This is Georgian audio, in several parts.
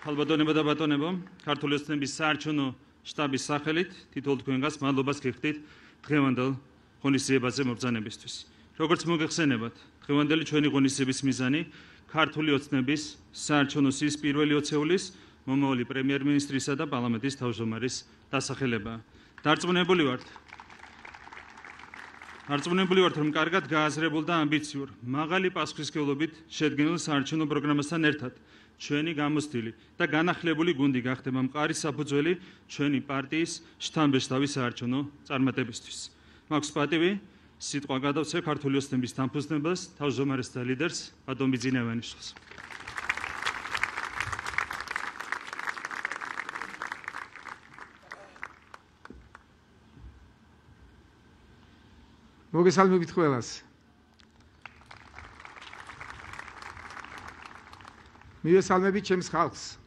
ხალბატონებო და ბატონებო, ქართული ოცნების საარჩევნო შტაბის სახელით თითოეულ თქვენგანს მადლობას გიხდით დღევანდელ ღონისძიებაზე მობრძანებისთვის. როგორც მოგეხსენებათ, დღევანდელი ჩვენი ღონისძიების მიზანი ქართული ოცნების საარჩევნო სიის პირველი ოცეულის მომავალი პრემიერ-მინისტრისა და პარლამენტის თავმჯდომარის დასახელებაა. დარწმუნებული ვართ, რომ კარგად გააზრებულ და ამბიციურ, მაღალი პასუხისმგებლობით შედგენილ საარჩევნო პროგრამასთან ერთად ჩვენი გამოცდილი და განახლებული გუნდი გახდება მყარი საფუძველი ჩვენი პარტიის შთამბეჭდავი საარჩევნო წარმატებისთვის. მაქვს პატივი სიტყვა გადავცე ქართული ოცნების დამფუძნებელს, თავმჯდომარეს და ლიდერს ბატონ ბიძინა ივანიშვილს. მოგესალმებით ყველას. მივესალმებით ჩემს ხალხს.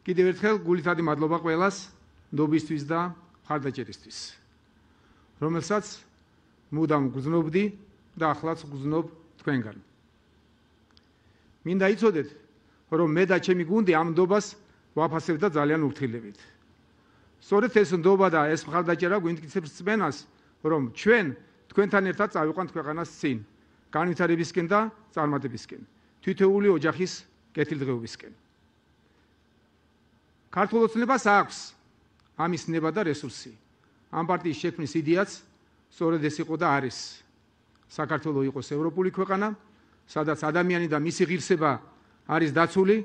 კიდევ ერთხელ გულითადი მადლობა ყველას ნდობისთვის და მხარდაჭერისთვის, რომელსაც მუდამ გრძნობდი და ახლაც გრძნობ თქვენგან. მინდა იცოდეთ, რომ მე და ჩემი გუნდი ამ ნდობას ვაფასებ და ძალიან ურთილებით. სწორედ ეს ნდობა და ეს მხარდაჭერა გვიმტკიცებს რწმენას, რომ ჩვენ თქვენთან ერთად წავიყვანთ ქვეყანას წინ, განვითარებისკენ და წარმატებისკენ, თითოეული ოჯახის კეთილდღეობისკენ. ქართულ ოცნებას აქვს ამის ნება და რესურსი. ამ პარტიის შექმნის იდეაც სწორედ ეს იყო და არის. საქართველო იყოს ევროპული ქვეყანა, სადაც ადამიანი და მისი ღირსება არის დაცული,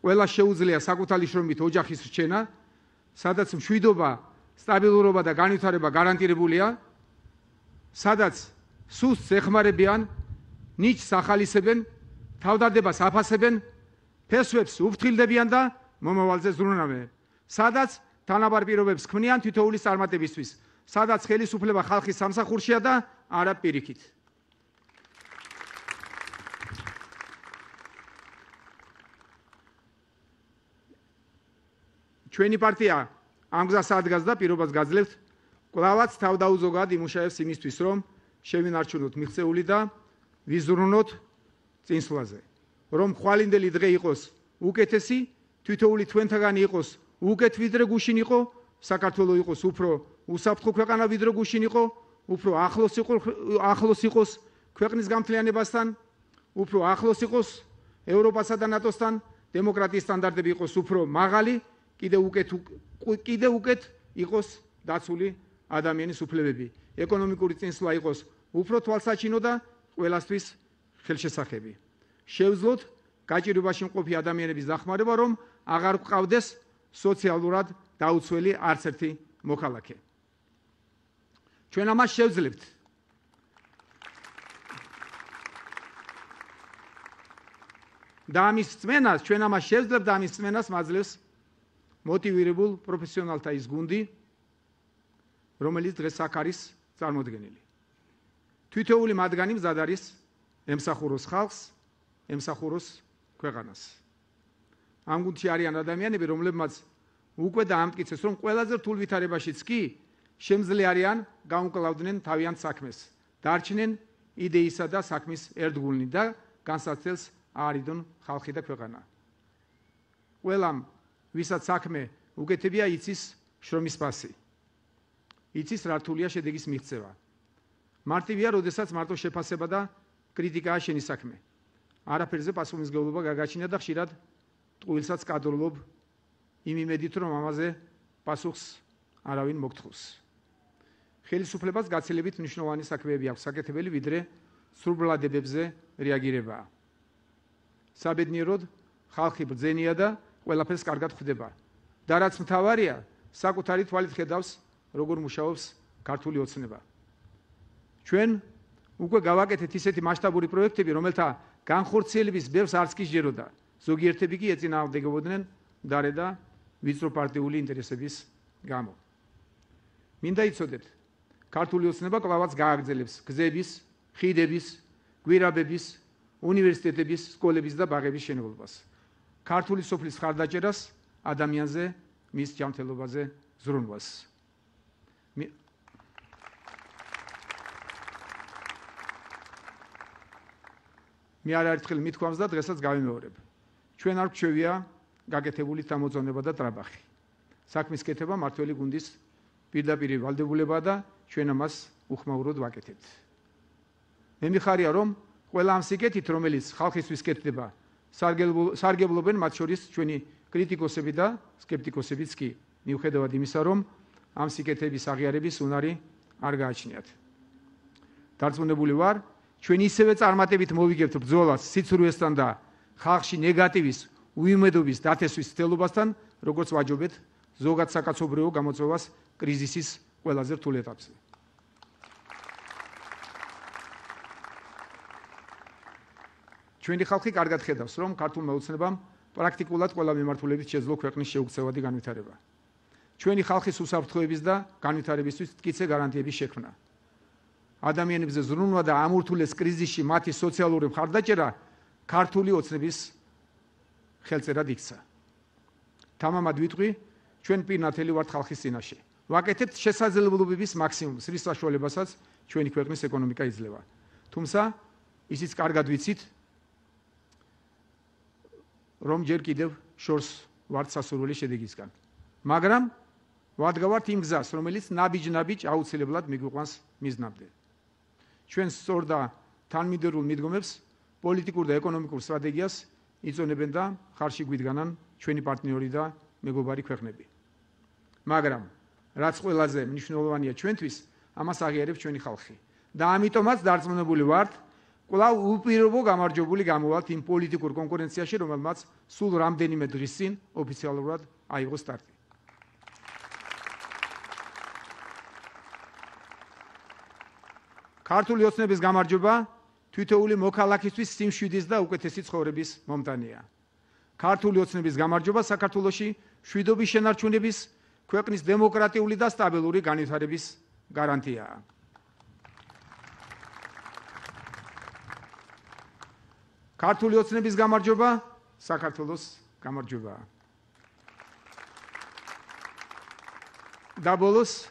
ყველას შეუძლია საკუთარი შრომით ოჯახის რჩენა, სადაც მშვიდობა, სტაბილურობა და განვითარება გარანტირებულია, სადაც სუსტს ეხმარებიან, ნიჭს ახალისებენ, თავდადებას აფასებენ, ფესვებს უფრთხილდებიან და მომავალზე ზრუნავენ, სადაც თანაბარ პირობებს ქმნიან თითოეულის წარმატებისთვის, სადაც ხელისუფლება ხალხის სამსახურშია და არა პირიქით. ჩვენი პარტია ამ გზას ადგას და პირობას გაძლევთ, კვლავაც თავდაუზოგად იმუშავებს იმისთვის, რომ შევინარჩუნოთ მიღწეული და ვიზრუნოთ წინსვლაზე, რომ ხვალინდელი დღე იყოს უკეთესი, თითოეული თქვენთაგანი იყოს უკეთ ვიდრე გუშინ იყო, საქართველო იყოს უფრო უსაფრთხო ქვეყანა ვიდრე გუშინ იყო, უფრო ახლოს იყოს ქვეყნის გამთლიანებასთან, უფრო ახლოს იყოს ევროპასა და ნატოსთან, დემოკრატიის სტანდარტები იყოს უფრო მაღალი, კიდევ უკეთ იყოს დაცული ადამიანის უფლებები, ეკონომიკური წინსვლა იყოს უფრო თვალსაჩინო და ყველასთვის ხელშესახები. შევძლოთ გაჭირვებაში მყოფი ადამიანების დახმარება, რომ აღარ გვყავდეს სოციალურად დაუცველი არც ერთი მოქალაქე. ჩვენ ამას შევძლებთ. და ამის რწმენას მაძლევს მოტივირებულ პროფესიონალთა ის გუნდი, რომელიც დღეს აქ არის წარმოდგენილი. თითოეული მათგანი მზად არის ემსახუროს ხალხს, ემსახუროს ქვეყანას. ამ გუნდში არიან ადამიანები, რომლებმაც უკვე დაამტკიცეს, რომ ყველაზე რთულ ვითარებაშიც კი შემძლე არიან გაუმკლავდნენ თავიანთ საქმეს, დარჩნენ იდეისა და საქმის ერთგულნი და განსაცდელს აარიდონ ხალხი და ქვეყანა. ყველამ, ვისაც საქმე უკეთებია, იცის შრომის ფასი. იცის რა რთულია შედეგის მიღწევა. მარტივია, როდესაც მარტო შეფასება და კრიტიკაა შენი საქმე. არაფერზე პასუხისმგებლობა გაგაჩნია და ხშირად ტყუილსაც კადრულობ იმ იმედით, რომ ამაზე პასუხს არავინ მოგთხოვს. ხელისუფლებას გაცილებით მნიშვნელოვანი საქმეები აქვს საკეთებელი, ვიდრე სრულ-ბლადებებზე რეაგირება. საბედნიეროდ ხალხი ბრძენია და ყველაფერს კარგად ხვდება. და რაც მთავარია, საკუთარი თვალით ხედავს, როგორ მუშაობს ქართული ოცნება. ჩვენ უკვე გავაკეთეთ ისეთი მასშტაბური პროექტები, რომელთა განხორციელების ბევრს არც კი სჯეროდა. ზოგიერთები კი ეწინააღმდეგებოდნენ მდარე და ვიწრო პარტიული ინტერესების გამო. მინდა იცოდეთ, ქართული ოცნება კვლავაც გააგრძელებს გზების, ხიდების, გვირაბების, უნივერსიტეტების, სკოლების და ბაღების შენობებას. ქართული სოფლის მხარდაჭერას, ადამიანზე, მის ჯანმრთელობაზე ზრუნვას. მე არაერთხელ მithქვამს და დღესაც გავიმეორებ. ჩვენ არ გვჩვევია გაკეთებული თამოძონება და ტრაბახი. საქმის კეთება მართველი გუნდის პირდაპირ ვალდებულებაა და ჩვენ ამას უხმაუროდ ვაკეთებთ. მე მიხარია რომ ყველა ამ სიკეთით რომელიც ხალხისთვის კეთდება სარგებლობენ მათ შორის ჩვენი კრიტიკოსები და სკეპტიკოსებიც კი მიუხედავად იმისა რომ ამ სიკეთების აღიარების უნარი არ გააჩნიათ. დარწმუნებული ვარ ჩვენ ისევე წარმატებით მოვიგებთ ბრძოლას სიცრუესთან და ხალხში ნეგატივის უიმედობის დათესვის ცდილობასთან როგორც ვაჯობეთ ზოგად საკაცობრიო გამოწვევას კრიზისის ყველაზე რთულ ეტაპზე. ჩვენი ხალხი კარგად ხედავს, რომ ქართულმა ოცნებამ პრაქტიკულად ყველა მიმართულებით შეძლო ქვეყნის შეუქცევადი განვითარება. ჩვენი ხალხის უსაფრთხოების და განვითარებისთვის მტკიცე გარანტიების შექმნა. ადამიანებზე ზრუნვა და ამურთულეს კრიზისში მათი სოციალური მხარდაჭერა ქართული ოცნების ხელწერად იქცა. თამამად ვიტყვი, ჩვენ პირნათელი ვართ ხალხის წინაშე. ვაკეთებთ შესაძლებლობების მაქსიმუმს, რის საშუალებასაც ჩვენი ქვეყნის ეკონომიკა იძლევა. თუმცა ისიც კარგად ვიცით, რომ ჯერ კიდევ შორს ვართ სასურველი შედეგისგან. მაგრამ ვადგავართ იმ გზას, რომელიც ნაბიჯ-ნაბიჯ აუცილებლად მიგვიყვანს მიზნამდე. ჩვენ სწორ და თანმიმდევრულ მიდგომებს, პოლიტიკურ და ეკონომიკურ სტრატეგიას იწონებენ და ხარში გვიდგანან ჩვენი პარტნიორი და მეგობარი ქვეყნები. მაგრამ რაც ყველაზე მნიშვნელოვანია ჩვენთვის, ამას აღიარებს ჩვენი ხალხი. და ამიტომაც დარწმუნებული ვართ, კვლავ უპირობო გამარჯვებული გამოვალთ იმ პოლიტიკურ კონკურენციაში, რომელმაც სულ რამდენიმე დღის წინ ოფიციალურად აიღო სტარტი. ქართული ოცნების გამარჯვება თითოეული მოქალაქისთვის სიმშვიდის და უკეთესი ცხოვრების მომტანია. ქართული ოცნების გამარჯვება საქართველოში მშვიდობის შენარჩუნების, ქვეყნის დემოკრატიული და სტაბილური განვითარების გარანტიაა. ქართული ოცნების გამარჯვება საქართველოს გამარჯვებაა. და ბოლოს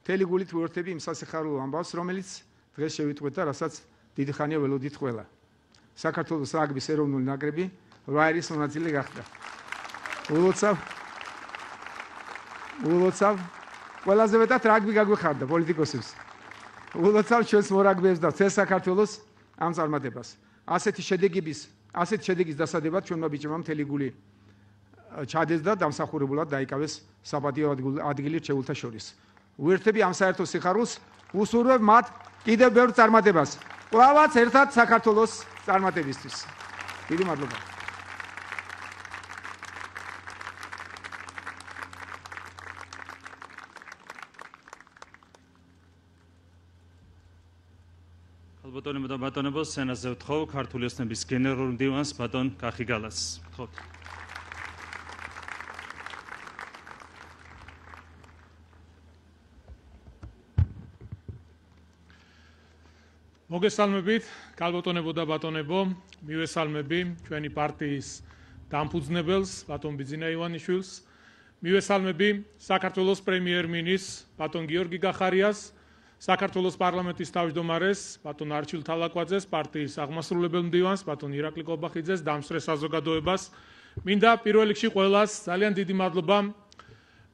მთელი გულით ვუერთები იმ სასიხარულო ამბავს, რომელიც დღეს შევიტყვეთ და რასაც დიდი ხანია ველოდით ყველა. საქართველოს რაგბის ეროვნული ნაკრები 8 ერის მონაწილე გახდა. ულოცავ ყველაზე მეტად რაგბი გაგვეხარდა პოლიტიკოსებს. ულოცავ ჩვენს მორაგბეებს და წეს საქართველოს ამ წარმატებას. ასეთი შედეგის დასადებად ჩვენმა ბიჭებმა მთელი გული ჩადეს და დამსახურებულად დაიკავეს საპატიო ადგილი რჩეულთა შორის. ვუერთები ამ საერთო სიხარულს, უსურვებ მათ კიდევ ბევრ წარმატებას. ყველაც ერთად საქართველოს წარმატებისთვის. დიდი მადლობა. ალბათონებო და ბატონებო, სენაზე ვთხოვ ქართული ოცნების გენერალურ მდივანს ბატონ კახიგალას. ვთხოვთ. მოგესალმებით, ქალბატონებო და ბატონებო, მივესალმები ჩვენი პარტიის დამფუძნებელს, ბატონ ბიძინა ივანიშვილს, მივესალმები საქართველოს პრემიერ-მინისტრს, ბატონ გიორგი გახარიას, საქართველოს პარლამენტის თავმჯდომარეს, ბატონ არჩილ თალაკვაძეს, პარტიის აღმასრულებელ მდივანს, ბატონ ირაკლი კობახიძეს, დამსწრე საზოგადოებას, მინდა პირველ რიგში ყველას ძალიან დიდი მადლობა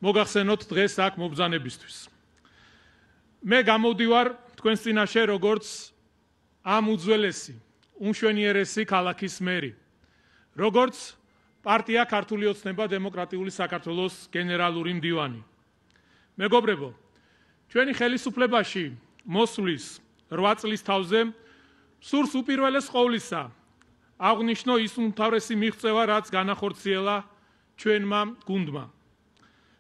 მოგახსენოთ დღეს აქ მობრძანებისთვის. მე გამოვდივარ თქვენს წინაშე როგორც ამ უძველესი, უმშვენიერესი ქალაქის მერი, როგორც პარტია ქართული ოცნება დემოკრატიული საქართველოს გენერალური მდივანი. მეგობრებო, ჩვენი ხელისუფლებაში მოსვლის 8 წლის თავზე სურს უპირველეს ყოვლისა აღნიშნო ის უმთავრესი მიღწევა, რაც განახორციელა ჩვენმა გუნდმა.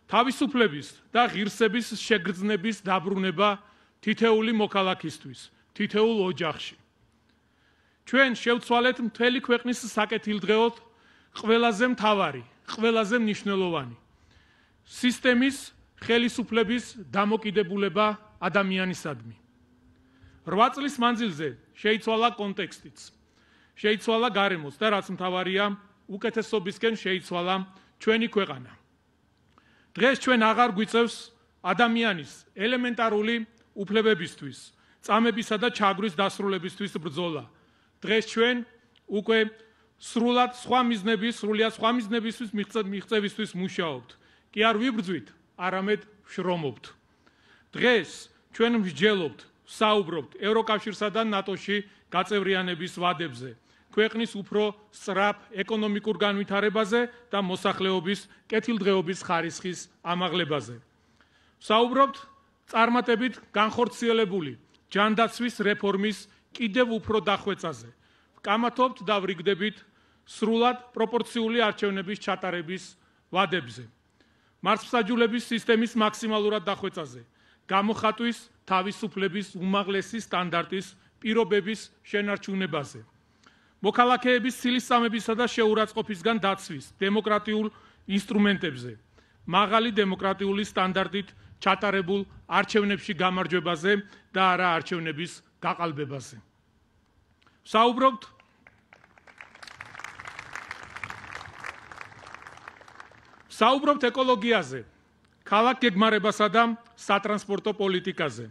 თავისუფლების და ღირსების შეგრძნების დაბრუნება თითეული მოქალაქისთვის, თითეულ ოჯახში. ჩვენ შევცვალეთ მთელი ქვეყნის საკეთილდღეოდ ყველაზე მთავარი, ყველაზე მნიშვნელოვანი სისტემის ხელისუფლების დამოკიდებულება ადამიანისადმი. 8 წლის მანძილზე შეიცვალა კონტექსტიც, შეიცვალა გარემოც და რაც მთავარია, უკეთესობისკენ შეიცვალა ჩვენი ქვეყანა. დღეს ჩვენ აღარ გვიწევს ადამიანის ელემენტარული უფლებებისთვის, წამებისა და ჩაგვრის დასრულებისთვის ბრძოლა. დღეს ჩვენ უკვე სრულად სხვა მიზნებისთვის მიღწევისთვის მუშაობთ. კი არ ვიბრძვით, არამედ ვშრომობთ. დღეს ჩვენ ვსჯელობთ, საუბრობთ ევროკავშირსა და ნატოში გაწევრიანების ვადებზე, ქვეყნის უფრო სწრაფ ეკონომიკურ განვითარებაზე და მოსახლეობის კეთილდღეობის ხარისხის ამაღლებაზე. საუბრობთ წარმატებით განხორციელებული ჯანდაცვის რეფორმის კიდევ უფრო დახვეწაზე. ვკამათობთ და ვრიგდებით სრულად პროპორციული არჩევნების ჩატარების ვადებზე. მართლმსაჯულების სისტემის მაქსიმალურად დახვეწაზე. გამოხატვის თავისუფლების უმაღლესი სტანდარტის პირობების შენარჩუნებაზე. მოქალაქეების ცილისწამებისა და შეურაცხყოფისგან დაცვის დემოკრატიულ ინსტრუმენტებზე. მაღალი დემოკრატიული სტანდარტით ჩატარებულ არჩევნებში გამარჯვებაზე და არა არჩევნების გაყალბებაზე. საუბრობთ ეკოლოგიაზე, ქალაქ გეგმარებასა და სატრანსპორტო პოლიტიკაზე.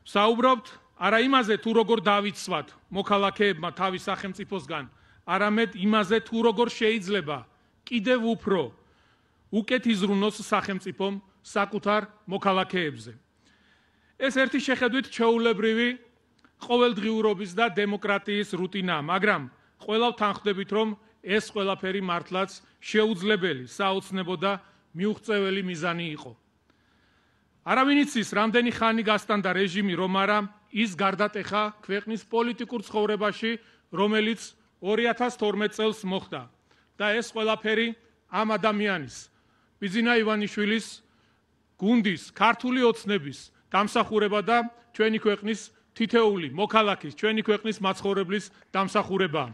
საუბრობთ არა იმაზე, თუ როგორ დავიცვათ მოქალაქეებმა თავის სახელმწიფოსგან, არამედ იმაზე, თუ როგორ შეიძლება კიდევ უფრო უკეთ იზრუნოს სახელმწიფომ საკუთარ მოქალაქეებზე. ეს ერთი შეხედვით ჩვეულებრივი ყოველდღიურობის და დემოკრატიის რუტინაა, მაგრამ ყველა ვთანხმდებით, რომ ეს ყველაფერი მართლაც შეუძლებელი, საოცნებო და მიუღწეველი მიზანი იყო. არავინ იცის, რამდენი ხანი გასტანდა რეჟიმი, რომ არა ის გარდატეხა ქვეყნის პოლიტიკურ ცხოვრებაში, რომელიც 2012 წელს მოხდა და ეს ყველაფერი ამ ადამიანის, ბიძინა ივანიშვილის გუნდის, ქართული ოცნების დამსახურება და ჩვენი ქვეყნის თითეული მოქალაქის, ჩვენი ქვეყნის მაცხოვრებლის დამსახურებაა.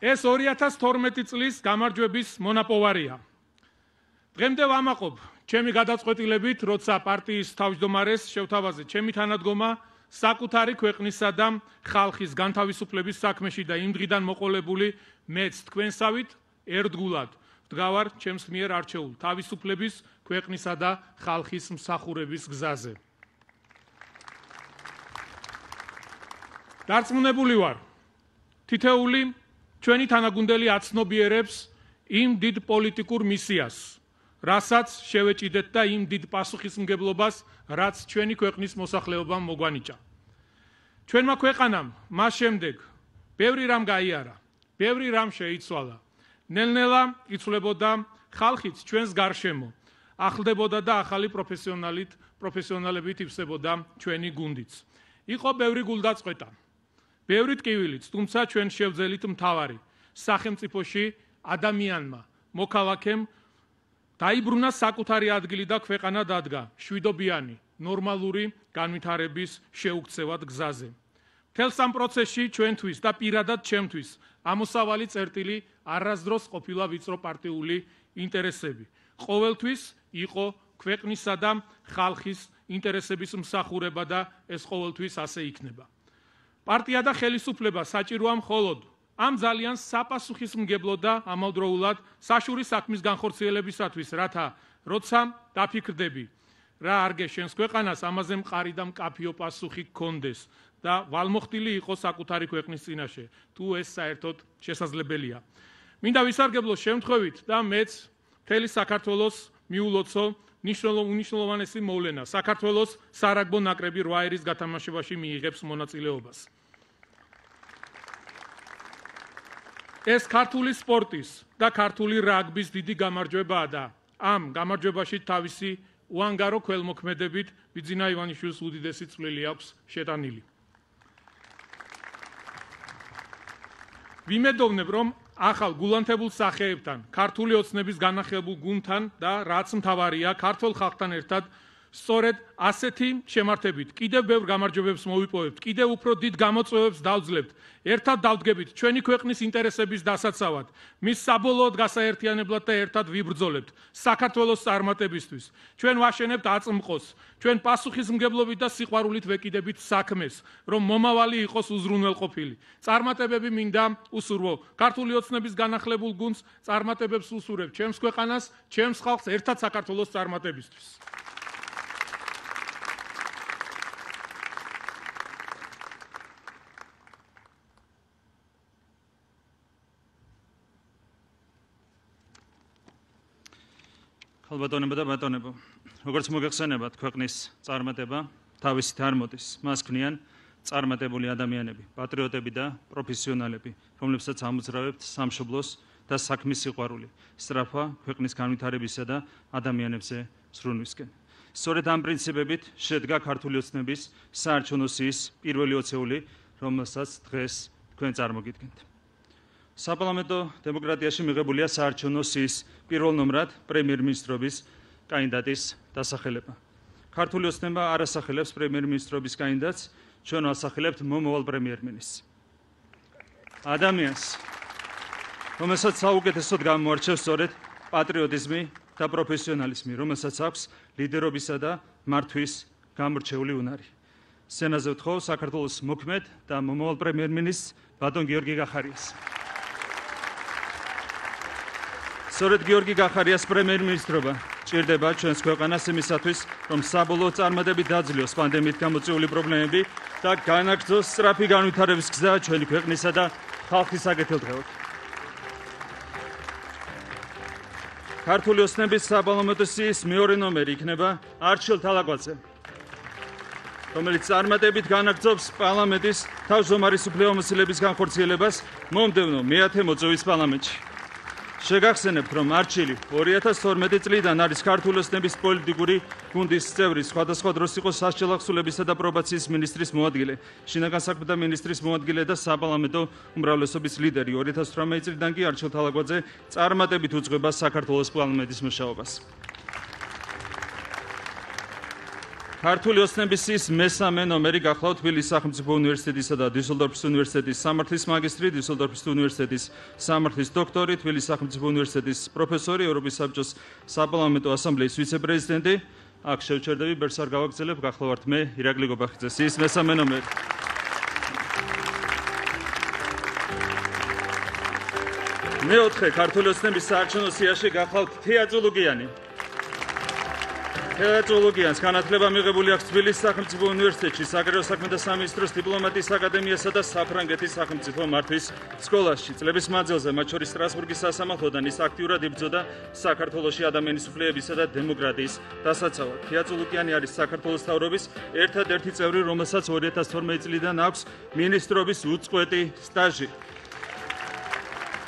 ეს 2012 წლის გამარჯვების მონაპოვარია. დღემდე ვამაყობ ჩემი გადაწყვეტილებით, როცა პარტიის თავმჯდომარეს შევთავაზე ჩემი თანადგომა საკუთარი ქვეყნისა და ხალხის განთავისუფლების საქმეში და იმ დღიდან მოყოლებული მეც თქვენსავით ერთგულად ვდგავარ ჩემს მიერ არჩეულ თავისუფლების, ქვეყნისა და ხალხის მსახურების გზაზე. დარწმუნებული ვარ, თითეული ჩვენი თანაგუნდელი აცნობიერებს იმ დიდ პოლიტიკურ მისიას, რასაც შევეჭიდეთ და იმ დიდ პასუხისმგებლობას, რაც ჩვენი ქვეყნის მოსახლეობამ მოგვანიჭა. ჩვენმა ქვეყანამ მას შემდეგ ბევრი რამ გაიარა, ბევრი რამ შეიცვალა. ნელ-ნელა იცვლებოდა ხალხიც ჩვენს გარშემო, ახლდებოდა და ახალი პროფესიონალებით ივსებოდა ჩვენი გუნდიც. იყო ბევრი გულდაწყვეტა, ბევრი ტკივილიც, თუმცა ჩვენ შევძელით მთავარი სახელმწიფოში ადამიანმა, მოქალაქემ დაიბრუნა საკუთარი ადგილი და ქვეყანა დადგა შვიდობიანი, ნორმალური განვითარების შეუქცევად გზაზე. მთელს ამ პროცესში ჩვენთვის და პირადად ჩემთვის ამოსავალი წერტილი არასდროს ყოფილა ვიწრო პარტიული ინტერესები. ყოველთვის იყო ქვეყნისა და ხალხის ინტერესების მსახურება და ეს ყოველთვის ასე იქნება. პარტია და ხელისუფლება საჭიროა მხოლოდ ამ ძალიან საპასუხისმგებლო და ამავდროულად საშური საქმის განხორციელებისათვის, რათა როცა დაფიქრდები, რა არგე შენს ქვეყანას, ამაზე მყარი და მკაფიო პასუხი გქონდეს და ვალმოხდილი იყოს საკუთარი ქვეყნის წინაშე, თუ ეს საერთოდ შესაძლებელია. მინდა ვისარგებლო შემთხვევით და მეც მთელი საქართველოს მიულოცო უნიშნულოვანესი მოვლენა. საქართველოს სარაგბო ნაკრები 8 ერის გათამაშებაში მიიღებს მონაწილეობას. ეს ქართული სპორტის და ქართული რაგბის დიდი გამარჯვებაა და ამ გამარჯვებაში თავისი უანგარო ქველმოქმედებით ბიძინა ივანიშვილის უდიდესი წვლილი აქვს შეტანილი. ვიმედოვნებ, რომ ახალ გულანთებულ სახეებთან, ქართული ოცნების განახლებულ გუნდთან და რაც მთავარია, ქართულ ხალხთან ერთად სწორედ ასეთი შემართებით კიდევ ბევრ გამარჯვებებს მოვიპოვებთ, კიდევ უფრო დიდ გამოწვევებს დავძლებთ, ერთად დავდგებით ჩვენი ქვეყნის ინტერესების დასაცავად, მის საბოლოოდ გასაერთიანებლად და ერთად ვიბრძოლებთ საქართველოს წარმატებისთვის. ჩვენ ვაშენებთ აწმყოს, ჩვენ პასუხისმგებლობით და სიყვარულით ვეკიდებით საქმეს, რომ მომავალი იყოს უზრუნველყოფილი. წარმატებები მინდა უსურვო ქართული ოცნების განახლებულ გუნდს, წარმატებებს უსურვებ ჩემს ქვეყანას, ჩემს ხალხს ერთად საქართველოს წარმატებისთვის. ხალბატონებო და ბატონებო, როგორც მოგეხსენებათ, ქვეყნის წარმატება თავისით არ მოდის. მას ქმნიან წარმატებული ადამიანები, პატრიოტები და პროფესიონალები, რომლებსაც ამოძრავებთ სამშობლოს და საქმის სიყვარული, სწრაფა ქვეყნის განვითარებისა და ადამიანებზე ზრუნვისკენ. სწორედ ამ პრინციპებით შედგა ქართული ოცნების საარჩევნო სიის პირველი ოცეული, რომელსაც დღეს თქვენ წარმოგიდგენთ. საპარლამენტო დემოკრატიაში მიღებულია საარჩევნო სიის პირველ ნომრად პრემიერ-მინისტრობის კანდიდატის დასახელება. ქართული ოცნება არ ასახელებს პრემიერ-მინისტრობის კანდიდატს, ჩვენ ასახელებთ მომავალ პრემიერ-მინისტრს. ადამიანს, რომელსაც საუკეთესოდ გამოარჩევს სწორედ პატრიოტიზმი და პროფესიონალიზმი, რომელსაც აქვს ლიდერობისა და მართვის გამორჩეული უნარი. სცენაზე ვთხოვ საქართველოს მოქმედ და მომავალ პრემიერ-მინისტრს ბატონ გიორგი გახარიას. სწორედ გიორგი გახარიას პრემიერ-მინისტრობა ჭირდება ჩვენს ქვეყანას იმისათვის, რომ საბოლოო წარმატებით დაძლიოს პანდემიით გამოწვეული პრობლემები და განაგრძოს სწრაფი განვითარების გზა ჩვენი ქვეყნისა და ხალხის საკეთილდღეოდ. ქართული ოცნების საპარლამენტო სიის მეორე ნომერი იქნება არჩილ თალაკვაძე, რომელიც წარმატებით განაგრძობს პარლამენტის თავმჯდომარის უფლებამოსილების განხორციელებას მომდევნო მე-10 მოწვევის პარლამენტში. შეგახსენებთ, რომ არჩილი 2012 წლიდან არის ქართული ოცნების პოლიტიკური გუნდის წევრი, სხვადასხვა დროს იყო სასჯელ ახსულებისა და პრობაციის მინისტრის მოადგილე, შინაგან საქმეთა მინისტრის მოადგილე და საპარლამენტო უმრავლესობის ლიდერი. 2018 წლიდან კი არჩილ თალაკვაძე წარმატებით უძღვება საქართველოს პარლამენტის მუშაობას. ქართული ოცნების სიის მესამე ნომერი გახლავთ თბილისის სახელმწიფო უნივერსიტეტისა და დუსელდორფის უნივერსიტეტის სამართლის მაგისტრი, დუსელდორფის უნივერსიტეტის სამართლის დოქტორი, თბილისის სახელმწიფო უნივერსიტეტის პროფესორი, ევროპის საბჭოს საპარლამენტო ასამბლეის ვიცე-პრეზიდენტი. აქ შევჩერდები, ბერს არ გავაგრძელებ, გახლავართ მე, ირაკლი გობახიძე, სიის მესამე ნომერი. მეოთხე ქართული ოცნების საარჩევნო სიაში გახლავთ თეა წულუგიანი. თეატროლოგიანს განათლება მიღებული აქვს თბილისის სახელმწიფო უნივერსიტეტში, საგარეო საქმეთა სამინისტროს დიპლომატიის აკადემიასა და საფრანგეთის სახელმწიფო მართვის სკოლაში. წლების მანძილზე, მათ შორის სტრასბურგის სასამართლოდან ის აქტიურად იბრძოდა საქართველოში ადამიანის უფლებებისა და დემოკრატიის დასაცავად. თეა წულუგიანი არის საქართველოს მთავრობის ერთადერთი წევრი, რომელსაც 2012 წლიდან აქვს მინისტრობის უწყვეტი სტაჟი.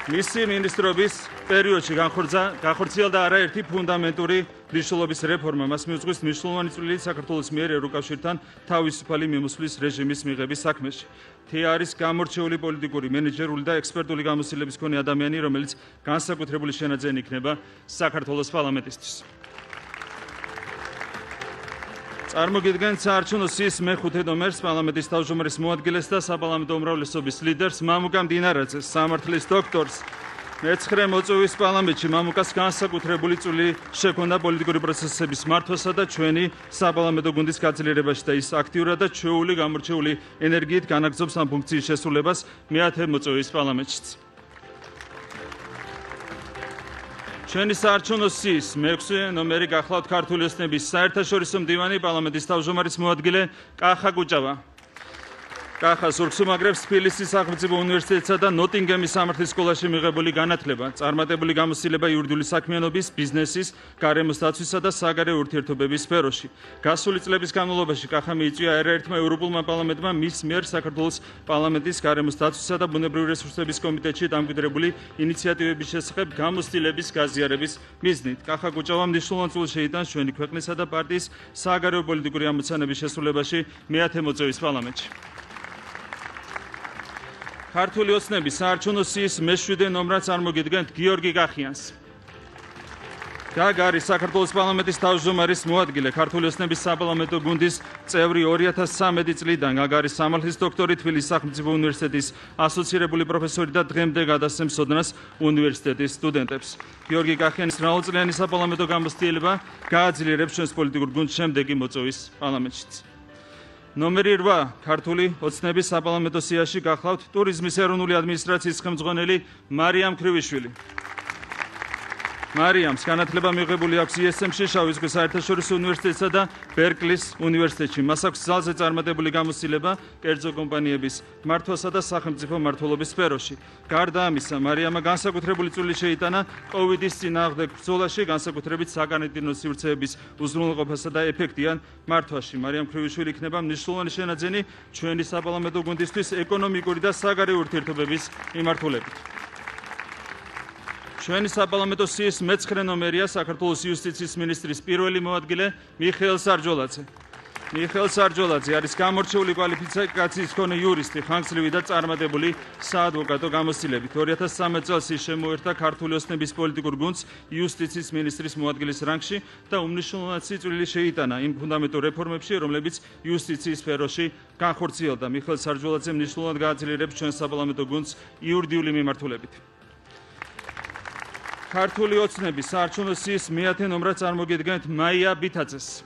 მისი მინისტრობის პერიოდში განხორციელდა არაერთი ფუნდამენტური მნიშვნელობის რეფორმა, მას მიუძღვის მნიშვნელოვანი წვლილი საქართველოს მიერ ევროკავშირთან თავისუფალი მიმოსვლის რეჟიმის მიღების საქმეში. თეა არის გამორჩეული პოლიტიკური, მენეჯერული და ექსპერტული გამოცდილების მქონე ადამიანი, რომელიც განსაკუთრებული შენაძენი იქნება საქართველოს პარლამენტისთვის. წარმოგიდგენთ საარჩევნო სიის მე-5 ნომერს, პარლამენტის თავმჯდომარის მოადგილეს და საპარლამენტო უმრავლესობის ლიდერს, მამუკა მდინარაძეს, სამართლის დოქტორს. მე-9 მოწვევის პარლამენტში მამუკას განსაკუთრებული წვლილი შექონდა პოლიტიკური პროცესების მართვასა და ჩვენი საპარლამენტო გუნდის გაძლიერებაში და ის აქტიურად და ჩვეული გამორჩეული ენერგიით განაგრძობს ამ ფუნქციის შესრულებას მე-10 მოწვევის პარლამენტშიც. ჩვენი საარჩევნო სიის მე-6 ნომერი გახლავთ ქართული ოცნების საერთაშორისო მდივანი, პარლამენტის თავმჯდომარის მოადგილე კახა კუჭავა. კახა სურგს უმაგრებს თბილისის სახელმწიფო უნივერსიტეტსა და ნოტინგემის სამართლის სკოლაში მიღებული განათლება, წარმატებული გამოცდილება იურიდიული საქმიანობის, ბიზნესის, გარემოს დაცვისა და საგარეო ურთიერთობების სფეროში. გასული წლების განმავლობაში კახა მიიწვია არაერთმა ევროპულმა პარლამენტმა მის მიერ საქართველოს პარლამენტის გარემოს დაცვისა და ბუნებრივი რესურსების კომიტეტში დამკვიდრებული ინიციატივების შესახებ გამოცდილების გაზიარების მიზნით. კახა კუჭავა მნიშვნელოვან წვლილს შეიტანს ჩვენი ქვეყნისა და პარტიის საგარეო პოლიტიკური ამოცანების შესრულებაში მე-10 მოწვევის პარლამენტში. ქართული ოცნების საარჩევნო სიის მე-7 ნომრად წარმოგიდგენთ გიორგი გახიანს. გაგ არის საქართველოს პარლამენტის თავმჯდომარის მოადგილე, ქართული ოცნების საპარლამენტო გუნდის წევრი 2013 წლიდან. გაგ არის სამართლის დოქტორი, თბილისის სახელმწიფო უნივერსიტეტის ასოცირებული პროფესორი და დღემდე გადასცემს ოდნას უნივერსიტეტის სტუდენტებს. გიორგი გახიანის მრავალწლიანი საპარლამენტო გამოცდილება გააძლიერებს ჩვენს პოლიტიკურ გუნდს შემდეგი მოწვევის პარლამენტშიც. ნომერი 8 ქართული ოცნების საპარლამენტო სიაში გახლავთ ტურიზმის ეროვნული ადმინისტრაციის ხელმძღვანელი მარიამ ქრივიშვილი. მარიამს განათლება მიღებული აქვს ISM-ში, შავი ზღვის საერთაშორისო უნივერსიტეტსა და ბერკლის უნივერსიტეტში. მას აქვს ძალზე წარმატებული გამოცდილება კერძო კომპანიების მართვასა და სახელმწიფო მმართველობის სფეროში. გარდა ამისა, მარიამა განსაკუთრებული წვლილი შეიტანა COVID-ის წინააღმდეგ ბრძოლაში, განსაკუთრებით საკარანტინო სივრცეების უზრუნველყოფასა და ეფექტიან მართვაში. მარიამ ქრივიშვილი იქნება მნიშვნელოვანი შენაძენი ჩვენი საპარლამენტო გუნდისთვის ეკონომიკური და საგარეო ურთიერთობების მიმართულებით. ჩვენი საპარლამენტო სიის მე-9 ნომერია საქართველოს იუსტიციის მინისტრის პირველი მოადგილე მიხეილ სარჯოლაძე. მიხეილ სარჯოლაძე არის გამორჩეული კვალიფიკაციის მქონე იურისტი, ხანგრძლივი და წარმატებული საადვოკატო გამოცდილებით. 2013 წელს ის შემოერთა ქართული ოცნების პოლიტიკურ გუნდს იუსტიციის მინისტრის მოადგილის რანგში და უმნიშვნელოვანესი წვლილი შეიტანა იმ ფუნდამენტურ რეფორმებში, რომლებიც იუსტიციის სფეროში განხორციელდა. მიხეილ სარჯოლაძე მნიშვნელოვნად გააძლიერებს ჩვენ საპარლამენტო გუნდს იურიდიული მიმართულებით. ქართული ოცნების საარჩევნო სიის მე-10 ნომრად წარმოგიდგენთ მაია ბითაძეს.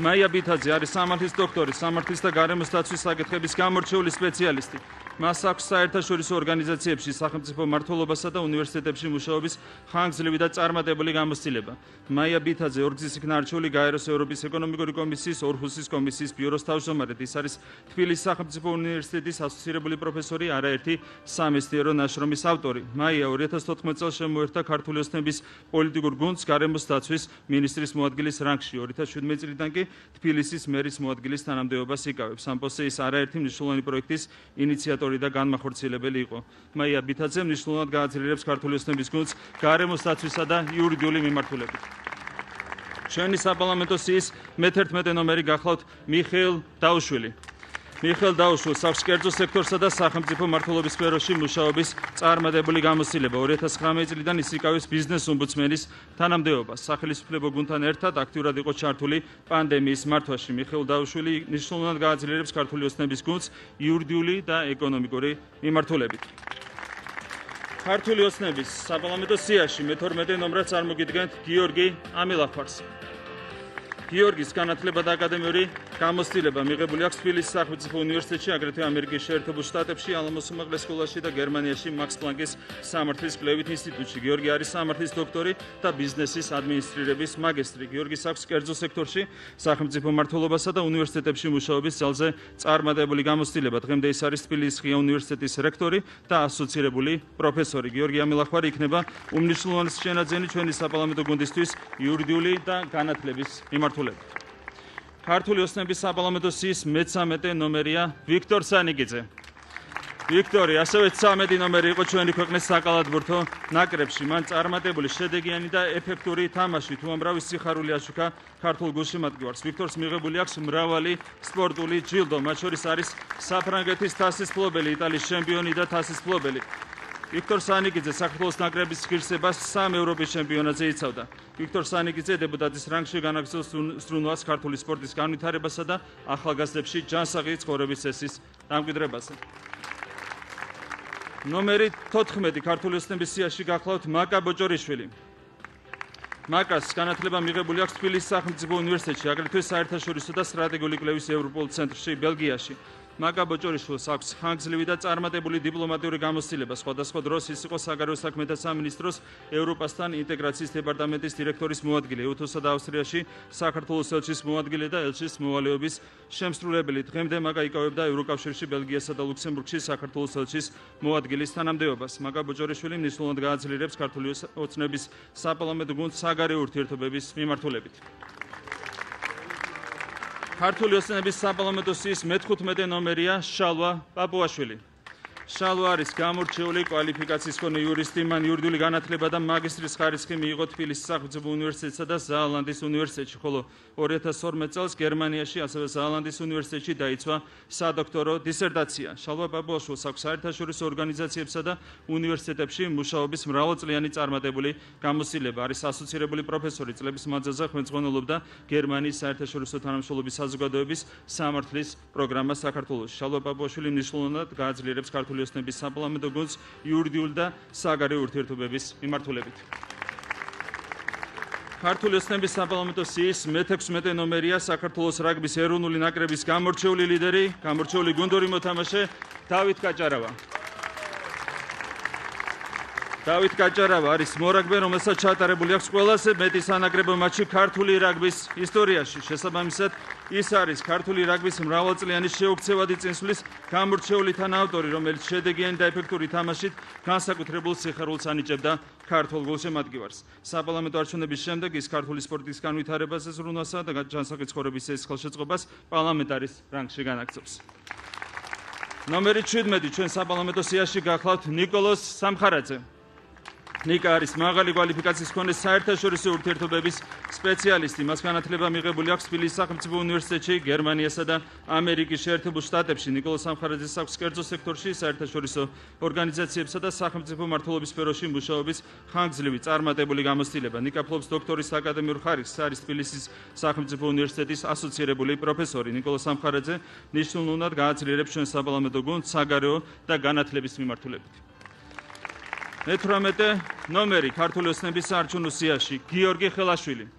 მაია ბითაძე არის სამართლის დოქტორი, სამართლის და გარემოს დაცვის საკითხების გამორჩეული სპეციალისტი. მას აქვს საერთაშორისო ორგანიზაციებში, სახელმწიფო მმართველობასა და უნივერსიტეტებში მუშაობის ხანგრძლივი და წარმატებული გამოცდილება. მაია ბითაძე ორგზის იქნა არჩეული გაეროს ევროპის ეკონომიკური კომისიის ორხუსის კომისიის ბიუროს თავმჯდომარედ. ის არის თბილისის სახელმწიფო უნივერსიტეტის ასოცირებული პროფესორი, არაერთი სამეცნიერო ნაშრომის ავტორი. მაია 2014 წელს შემოერთა ქართული ოცნების პოლიტიკურ გუნდს გარემოს დაცვის მინისტრის მოადგილის რანგში. 2017 წლიდან კი თბილისის მერის მოადგილის თანამდებობას იკავებს. ამ პოსტზე ის არაერთი მნიშვნელოვანი პროექტის ინიციატორი და განმახორციელებელი იყო. მაია ბითაძე მნიშვნელოვნად გააძლიერებს ქართული ოცნების გუნდს გარემოს დაცვისა და იურიდიული მიმართულებით. ჩვენი საპარლამენტო სიის მე-11 ნომერი გახლავთ მიხეილ დაუშვილი. მიხეილ დაუშვილს აქვს კერძო სექტორსა და სახელმწიფო მმართველობის სფეროში მუშაობის წარმატებული გამოცდილება. 2019 წლიდან ის იკავებს ბიზნეს ომბუდსმენის თანამდებობას. სახელმწიფო გუნდთან ერთად აქტიურად იყო ჩართული პანდემიის მართვაში. მიხეილ დაუშვილი მნიშვნელოვნად გააძლიერებს ქართული ოცნების გუნდს იურიდიული და ეკონომიკური მიმართულებით. ქართული ოცნების საპარლამენტო სიაში მე-12 ნომრად წარმოგიდგენთ გიორგი ამილახვარს. გიორგის განათლება და აკადემიური გამოცდილება მიღებული აქვს თბილისის სახელმწიფო უნივერსიტეტში, აგრეთვე ამერიკის შეერთებულ შტატებში, ალამოს უმაღლეს სკოლაში და გერმანიაში მაქს პლანკის სამართლის კვლევით ინსტიტუტში. გიორგი არის სამართლის დოქტორი და ბიზნესის ადმინისტრირების მაგისტრი. გიორგის აქვს კერძო სექტორში, სახელმწიფო მმართველობასა და უნივერსიტეტებში მუშაობის ძალზე წარმატებული გამოცდილება. დღემდე ის არის თბილისის ღია უნივერსიტეტის რექტორი და ასოცირებული პროფესორი. გიორგი ამილახვარი იქნება უმნიშვნელოვანესი შენაძენი ჩვენი საპარლამენტო გუნდისთვის იურიდიული და განათლების მიმართულებით. ქართული ოცნების საპარლამენტო სიის მე-13 ნომერია ვიქტორ სანიკიძე. ვიქტორი ასევე 13 ნომერი იყო ჩვენი ქვეყნის საკალათბურთო ნაკრებში. მან წარმატებული, შედეგიანი და ეფექტური თამაშით უამრავი სიხარული აშუქა ქართულ გულშემატკივარს. ვიქტორს მიღებული აქვს მრავალი სპორტული ჯილდო, მათ შორის არის საფრანგეთის თასის მფლობელი, იტალიის ჩემპიონი და თასის მფლობელი. ვიქტორ სანიკიძე საქართველოს ნაკრების ღირსებას 3 ევროპის ჩემპიონატზე იცავდა. ვიქტორ სანიკიძე დეპუტატის რანგში განაგრძობს ზრუნვას ქართული სპორტის განვითარებასა და ახალგაზრდებში ჯანსაღი ცხოვრების წესის დამკვიდრებაზე. ნომერი 14 ქართული ოცნების სიაში გახლავთ მაკა ბოჭორიშვილი. მაკას განათლება მიღებული აქვს თბილისის სახელმწიფო უნივერსიტეტში, აგრეთვე საერთაშორისო და სტრატეგიული კვლევის ევროპულ ცენტრში, ბელგიაში. მაკა ბოჭორიშვილს აქვს ხანგრძლივი და წარმატებული დიპლომატიური გამოცდილება. სხვადასხვა დროს ის იყო საგარეო საქმეთა სამინისტროს ევროპასთან ინტეგრაციის დეპარტამენტის დირექტორის მოადგილე, ევთოსა და ავსტრიაში საქართველოს ელჩის მოადგილე და ელჩის მოვალეობის შემსრულებელი. დღემდე მაკა იკავებდა ევროკავშირში, ბელგიასა და ლუქსემბურგში საქართველოს ელჩის მოადგილის თანამდებობას. მაკა ბოჭორიშვილი მნიშვნელოვნად გააძლიერებს ქართული ოცნების საპარლამენტო გუნდს საგარეო ურთიერთობების მიმართულებით. ქართული ოცნების საპარლამენტო სიის მე-15 ნომერია შალვა პაპუაშვილი. შალვა არის გამორჩეული კვალიფიკაციის მქონე იურისტი, მან იურიდიული განათლება და მაგისტრის ხარისხი მიიღო თბილისის სახელმწიფო უნივერსიტეტსა და ზაალანდის უნივერსიტეტში, ხოლო 2012 წელს გერმანიაში, ასევე ზაალანდის უნივერსიტეტში დაიცვა სადოქტორო დისერტაცია. შალვა პაპუაშვილს აქვს საერთაშორისო ორგანიზაციებსა და უნივერსიტეტებში მუშაობის მრავალწლიანი წარმატებული გამოცდილება. არის ასოცირებული პროფესორი, წლების მანძილზე ხელმძღვანელობდა გერმანიის საერთაშორისო თანამშრომლობის საზოგადოების სამართლის პროგრამას საქართველოში. შალვა პაპუაშვილი მნიშვნელოვნად გააძლიერებს ქართული ოცნების საპარლამენტო გუნდს იურიდიული და საგარეო ურთიერთობების მიმართულებით. ქართული ოცნების საპარლამენტო სიის მე-16 ნომერია საქართველოს რაგბის ეროვნული ნაკრების გამორჩეული ლიდერი, გამორჩეული გუნდური მოთამაშე დავით კაჭარავა. დავით გაჭარავა არის მორაგბე, რომელსაც ჩატარებული აქვს ყველაზე მეტი სანაკრებო მატჩი ქართული რაგბის ისტორიაში. შესაბამისად, ის არის ქართული რაგბის მრავალწლიანი შეუქცევადი წინსვლის გამორჩეული თანაავტორი, რომელიც შედეგიანი და ეფექტური თამაშით განსაკუთრებულ სიხარულს ანიჭებდა ქართულ გულშემატკივარს. საპარლამენტო არჩევნების შემდეგ ის ქართული სპორტის განვითარებაზე ზრუნვასა და ჯანსაღი ცხოვრების ეს ხელშეწყობას პარლამენტარის რანგში განაგრძობს. ნომერი 17 ჩვენ საპარლამენტო სიაში გახლავთ ნიკოლოზ სამხარაძე. ნიკა არის მაღალი კვალიფიკაციის მქონე საერთაშორისო ურთიერთობების სპეციალისტი. მას განათლება მიღებული აქვს თბილისის სახელმწიფო უნივერსიტეტში, გერმანიასა და ამერიკის შეერთებულ შტატებში. ნიკოლოზ სამხარაძეს აქვს კერძო სექტორში, საერთაშორისო ორგანიზაციებსა და სახელმწიფო მმართველობის სფეროში მუშაობის ხანგრძლივი წარმატებული გამოცდილება. ნიკა ფლობს დოქტორის აკადემიურ ხარისხს, არის თბილისის სახელმწიფო უნივერსიტეტის ასოცირებული პროფესორი. ნიკოლოზ სამხარაძე მნიშვნელოვნად გააძლიერებს ჩვენ საპარლამენტო გუნდს საგარეო და განათლების მიმართულებით. 18 ნომერი ქართული ოცნების საარჩევნო სიაში გიორგი ხელაშვილი.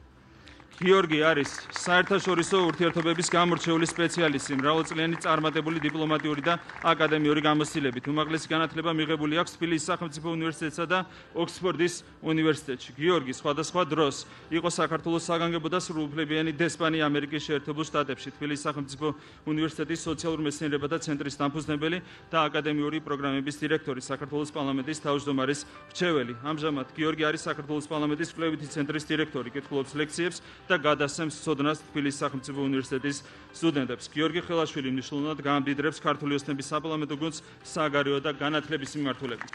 გიორგი არის საერთაშორისო ურთიერთობების გამორჩეული სპეციალისტი, მრავალწლიანი წარმატებული დიპლომატიური და აკადემიური გამოცდილებით. უმაღლესი განათლება მიღებული აქვს თბილისის სახელმწიფო უნივერსიტეტსა და ოქსფორდის უნივერსიტეტში. გიორგი სხვადასხვა დროს იყო საქართველოს საგანგებო და სრულუფლებიანი დესპანი ამერიკის შეერთებულ შტატებში, თბილისის სახელმწიფო უნივერსიტეტის სოციალურ მეცნიერებათა ცენტრის დამფუძნებელი და აკადემიური პროგრამების დირექტორი, საქართველოს პარლამენტის თავმჯდომარის მრჩეველი. ამჟამად გიორგი არის საქართველოს პარლამენტის კვლევითი ცენტრის დირექტორი, კითხულობს ლექციებს და გადასცემს ცოდნას თბილისის სახელმწიფო უნივერსიტეტის სტუდენტებს. გიორგი ხელაშვილი მნიშვნელოვნად გაამდიდრებს ქართული ოცნების საპარლამენტო გუნდს საგარეო და განათლების მიმართულებით.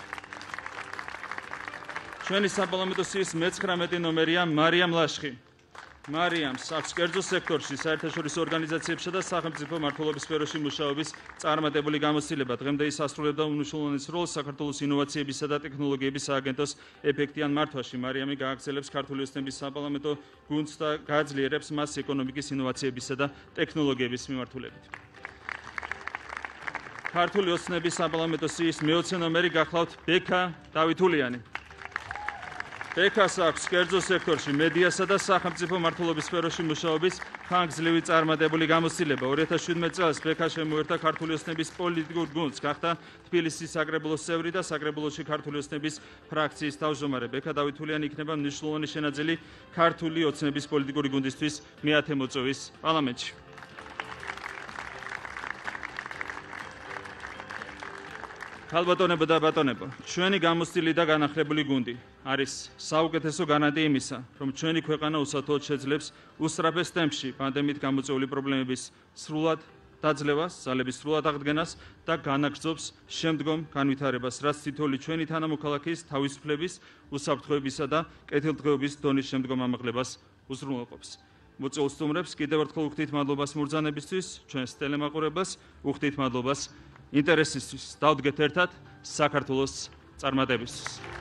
ჩვენი საპარლამენტო სიის 19 ნომერია მარიამ ლაშხი. მარიამს აქვს კერძო სექტორში, საერთაშორისო ორგანიზაციებსა და სახელმწიფო მმართველობის სფეროში მუშაობის წარმატებული გამოცდილება. დღემდე ის ასრულებდა უმნიშვნელოვანეს როლს საქართველოს ინოვაციებისა და ტექნოლოგიების სააგენტოს ეფექტიან მართვაში. მარიამი გააგრძელებს ქართული ოცნების საპარლამენტო გუნდს და გააძლიერებს მას ეკონომიკის ინოვაციებისა და ტექნოლოგიების მიმართულებით. ქართული ოცნების საპარლამენტო სიის 20 ნომერი გახლავთ ბექა დავითულიანი. ბექას აქვს კერძო სექტორში, მედიასა და სახელმწიფო მმართველობის სფეროში მუშაობის ხანგრძლივი წარმატებული გამოცდილება. 2017 წელს ბექა შემოერთა ქართული ოცნების პოლიტიკურ გუნდს, გახდა თბილისის საკრებულოს წევრი და საკრებულოში ქართული ოცნების ფრაქციის თავმჯდომარე. ბექა დავითულიანი იქნება მნიშვნელოვანი შენაძენი ქართული ოცნების პოლიტიკური გუნდისთვის მეათე მოწვევის პარლამენტში. ქალბატონებო და ბატონებო, ჩვენი გამოცდილი და განახლებული გუნდი არის საუკეთესო განადი იმისა, რომ ჩვენი ქვეყანა უსათოოდ შეძლებს უსწრაფეს ტემპში პანდემიით გამოწვეული პრობლემების სრულად დაძლევას, ძალების სრულად აღდგენას და განაგრძობს შემდგომ განვითარებას, რაც თითოეული ჩვენი თანამოქალაქის თავისუფლების, უსაფრთხოებისა და კეთილდღეობის დონის შემდგომ ამაღლებას უზრუნველყოფს. მოწვეულ სტუმრებს კიდევ ერთხელ უხდით მადლობას მურზანებისთვის, ჩვენს ტელემაყურებას უხდით მადლობას ინტერესისთვის. დავდგეთ ერთად საქართველოს წარმატებისთვის.